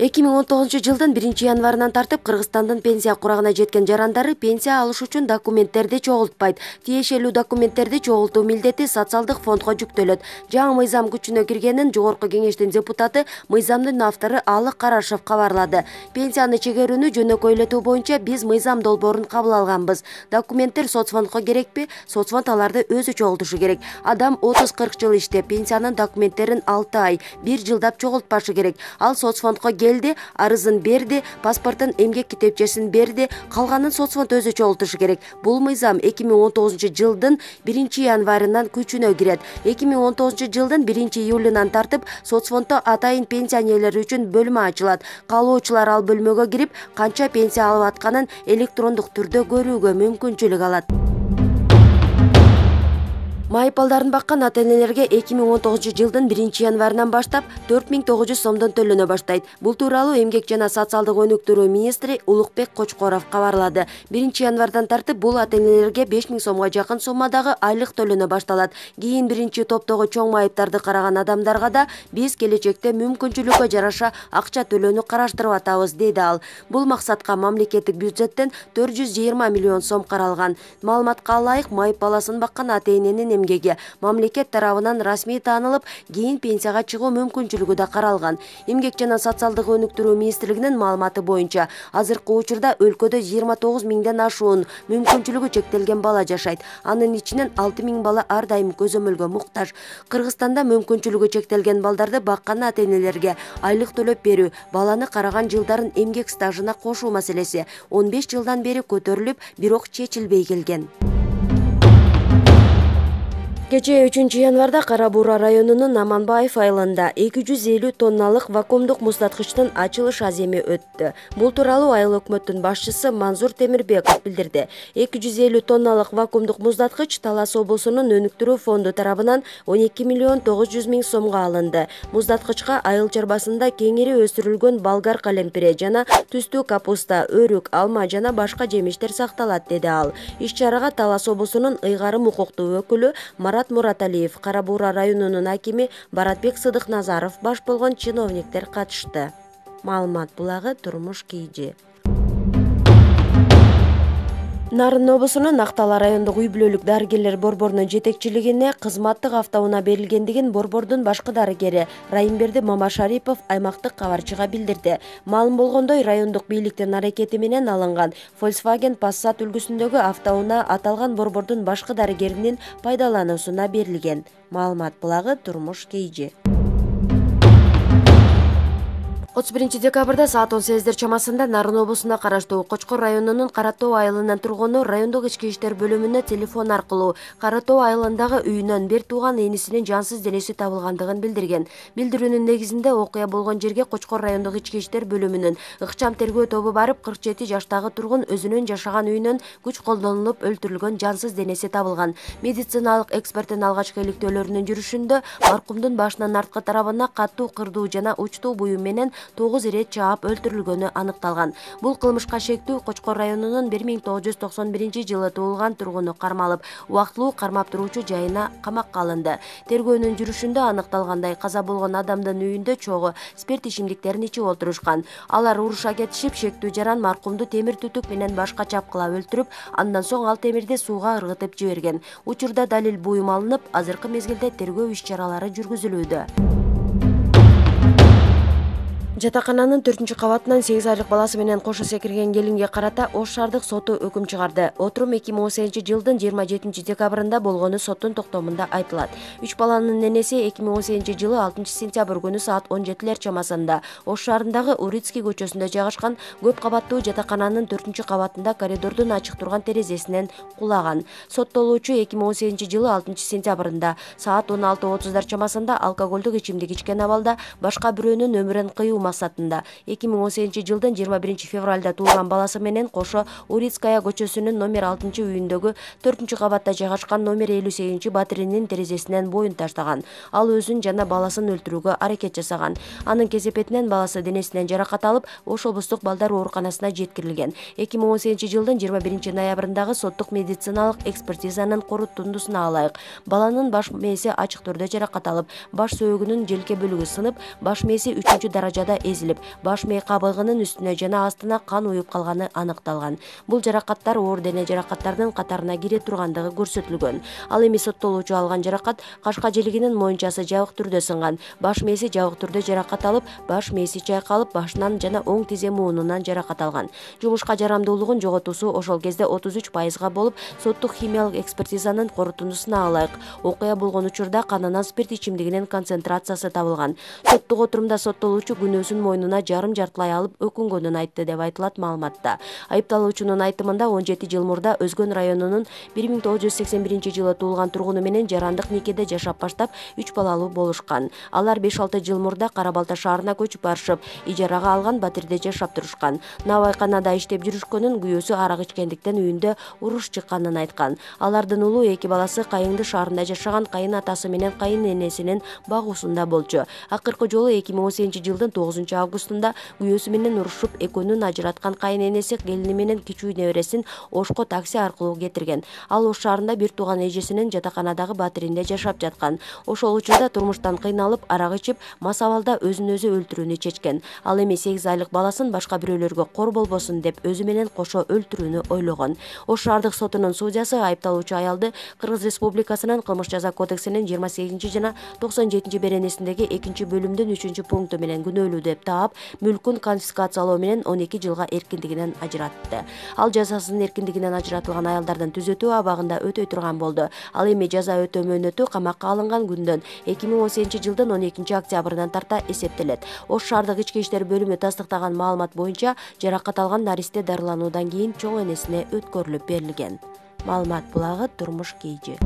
2019 жылдын 1-январынан тартып Кыргызстандын пенсия курагына жеткен жарандары пенсия алыш үчүн документтерди чогултпайт. Тиешелүү документтерди чогултуу милдети социалдык фондго жүктөлөт. Жаңы мыйзам күчүнө киргенин Жогорку Кеңештин депутаты, мыйзамдын автору Алы Карашев кабарлады. Пенсияны чегерүүнү жөнөкөйлөтүү боюнча биз мыйзам долбоорун кабыл алганбыз. Документтер соцфондго керекпи? Соцфонд аларды өзү чогултушу керек. Адам 30-40 жыл иштеп, пенсиянын документтерин 6 ай, 1 жылдап чогултпашы керек. Ал соцфондго келди, арызын берди, паспортун, эмгек китепчесин берди, калганын соцфонд өзү чогултушу керек. Бул мыйзам 2019 жылдын 1-январынан күчүнө кирет. 2019 жылдын 1-июлунан тартып соцфонддо атайын пенсионерлер үчүн бөлмө ачылат. Каалоочулар ал бөлмөгө кирип, канча пенсия алып атканын электрондук түрдө көрүүгө мүмкүнчүлүк алат. Майыпалдарын баккан ата-энелерге 2019 жылдын 1-январынан баштап 4900 сомдон төлөнө баштайт. Бул тууралуу Эмгек жана социалдык өнүктүрүү министри Улукбек Кочкоров кабарлады. 1-январдан тартып бул ата-энелерге 5000 сомго жакын суммадагы айлык төлөнө башталат. Кийин биринчи топтогу чоң майыптарды караган адамдарга да биз келечекте мүмкүнчүлүккө жараша акча төлөөнү караштырып атабыз, деди ал. Бул максатка мамлекеттик бюджеттен 420 миллион сом каралган. Маалыматка ылайык, майып баласын баккан ата-эненин эмгеги мамлекет тарабынан расмий таанылып, кийин пенсияга чыгуу мүмкүнчүлүгү да каралган. Эмгек жана социалдык өнүктүрүү министрлигинин маалыматы боюнча азыркы учурда өлкөдө 29 миңден ашуун мүмкүнчүлүгү чектелген бала жашайт. Анын ичинен 6000 бала ар дайым көзөмөлгө муктаж. Кыргызстанда мүмкүнчүлүгү чектелген балдарды баккан ата-энелерге айлык төлөп берүү, баланы караган жылдарын эмгек стажына кошуу маселеси 15 жылдан бери көтөрүлүп, бирок чечилбей келген. Кечээ 3-январда Кара Буура районунун Аманбаев айылында 250 тонналык вакуумдук муздаткычтын ачылыш аземи өттү. Бул тууралуу айыл өкмөттүн башчысы Мансур Темирбеков билдирди. 250 тонналык вакуумдук муздаткыч Талас облусунун өнүктүрүү фонду тарабынан 12 миллион 900 миң сомго алынды. Муздаткычка айыл чарбасында кеңири өстүрүлгөн болгар калемпире жана түстүү капуста, өрүк, алма жана башка жемиштер сакталат, деди ал. Иш-чарага Талас облусунун ыйгарым укуктуу өкүлү Мураталиев, Кара Буура районунун акими Баратбек Сыдыкназаров баш болгон чиновниктер катышты. Маалымат булагы Турмуш Кийжи. Нарын облусунун Актала райондук үй-бүлөлүк дарыгерлер борборунун жетекчилигине кызматтык автоунаа берилгендигин борбордун башкы дарыгери Райымберди Мамашарипов аймактык кабарчыга билдирди. Маалым болгондой, райондук бийликтин аракети менен алынган Volkswagen Passat үлгүсүндөгү автоунаа аталган борбордун башкы дарыгеринин пайдалануусуна берилген. Маалымат булагы Турмуш Кийжи. 31-декабрда саат 18 чамасында Нарын облусуна караштуу Кочкор районунун Каратоо айылынын тургуну райондук ички иштер бөлүмүнө телефон аркылуу Каратоо айылындагы үйүнөн бир тууган энисинин жансыз денеси табылгандыгын билдирген. Билдирүүнүн негизинде окуя болгон жерге Кочкор райондук ички иштер бөлүмүнүн ыкчам тергөө тобу барып, 47 жаштагы тургун өзүнүн жашаган үйүнөн күч колдонулуп өлтүрүлгөн жансыз денеси табылган. Медициналык эксперттин алгачкы иликтөөлөрүнүн жүрүшүндө маркумдун башынын арткы тарабына катуу кырдуу жана учтуу буюм менен 9 ирет чаап өлтүрүлгөнү аныкталган. Бул кылмышка шектүү Кочкор районунун 1991 жылы туулган тургуну кармалып, убактылуу кармап туруучу жайына камакка алынды. Тергөөнүн жүрүшүндө аныкталгандай, каза болгон адамдын үйүндө чогуу спирт ичимдиктерин ичип отурушкан. Алар уруша кетишип, шектүү жаран маркумду темир түтүк менен башка чапкылап өлтүрүп, андан соң ал темирди сууга ыргытып жиберген. Учурда далил буюм алынып, азыркы мезгилде тергөө иш-чаралары жүргүзүлүүдө. Жатакананын 4-кабатынан 8 айлык баласы менен кошо секирген келинге карата Ош шаардык соту өкүм чыгарды. Отурум 2018 жылдын 27 декабрында болгону соттун токтомунда айтылат. 3 баланын энеси 2018 жылы 6 сентябрь күнү саат 17 чамасында Ош шаарындагы Урицкий көчөсүндө жайгашкан көп кабаттуу жатакананын 4-кабатында коридордун ачык турган терезесинен кулаган. Соттолуучу 2018 жылы 6 сентябрында саат 16:30 чамасында алкоголдук ичимдик ичкен абалда башка бирөөнүн өмүрүн кыюу максатында 2018 жылдын 21 февралда туулган баласы менен кошо Урицкая көчөсүнүн номер 6 үйүндөгү 4-кабатта жайгашкан номер 58 батиренин терезесинен боюн таштаган. Ал өзүн жана баласын өлтүрүүгө аракет жасаган. Анын кесепетинен баласы денесинен жаракат алып, Ош облустук балдар ооруканасына жеткирилген. 2018 жылдын 21 ноябрындагы соттук медициналык экспертизанын корутундусуна ылайык баланын баш мээси ачык түрдө жаракат алып, баш сөөгүнүн желке бөлүгү сынып, баш мээси 3 даражада эзилип, баш мээ кабыгынын үстүнө жана астына кан уюп калганы аныкталган. Бул жаракаттар оор дене жаракаттарынын катарына кире тургандыгы көрсөтүлгөн. Ал эми соттолуучу алган жаракат кашка желигинин моюнчасы жабык түрдө сынган. Баш мээси жабык түрдө жаракат алып, баш мээси чайкалып, башынан жана оң тизе муунунан жаракат алган. Жумушка жарамдуулугун жоготуусу ошол кезде 33% болуп, соттук химиялык экспертизанын корутундусуна ылайык. Окуя болгон учурда канынан спирт ичимдигинин концентрациясы табылган. Соттук отурумда соттолуучу күнөөсүн мойнуна жарым-жартылай алып өкүнгөнүн айтты деп айтылат маалыматта. Айыпталуучунун айтымында 17 жыл мурда Өзгөн районунун 1981-жылы туулган тургуну менен жарандык никеде жашап баштап 3 балалуу болушкан. Алар 5-6 жыл мурда Кара Балта шаарына көчүп барышып, ижарага алган батирде жашап турушкан. Навайканада иштеп жүрүшкөнүн, күйөөсү арак ичкендиктен үйүндө уруш чыкканын айткан. Алардын улуу 2 баласы Кайыңды шаарында жашаган кайын атасы менен кайын энесинин багуусунда болчу. Акыркы жолу 2018-жылдын 9 августунда күйөөсү менен урушуп, экөөнүн ажыраткан кайын энеси келини менен кичүү небересин Ошко такси аркылуу кетирген. Ал Ош шаарында бир тууган эжесинин жатаканадагы батиринде жашап жаткан. Ошол учурда турмуштан кыйналып, арак ичип, мас абалда өзүн өзү өлтүрүүнү чечкен. Ал эми 8 айлык баласын башка бирөөлөргө кор болбосун деп өзү менен кошо өлтүрүүнү ойлогон. Ош шаардык сотунун судьясы айыпталуучу аялды Кыргыз Республикасынын кылмыш жаза кодексинин 28 жана 97 беренесиндеги 2 бөлүмдүн 3 пункту менен күнөөлүү деп таап, мүлкүн конфискациялоо менен 12 жылга эркиндигинен ажыратты. Ал жазасынын эркиндигинен ажыратылган аялдардын түзөтүү абагында өтөй турган болду. Ал эми жаза өтөө мөөнөтү камакка алынган күндөн 2018-жылдын 12 октябрынан тарта эсептелет. Ош шаардык ички иштер бөлүмү тастыктаган маалымат боюнча жаракат алган наристе дарылануудан кийин чоң энесине өткөрүлүп берилген. Маалымат булагы Турмуш KG.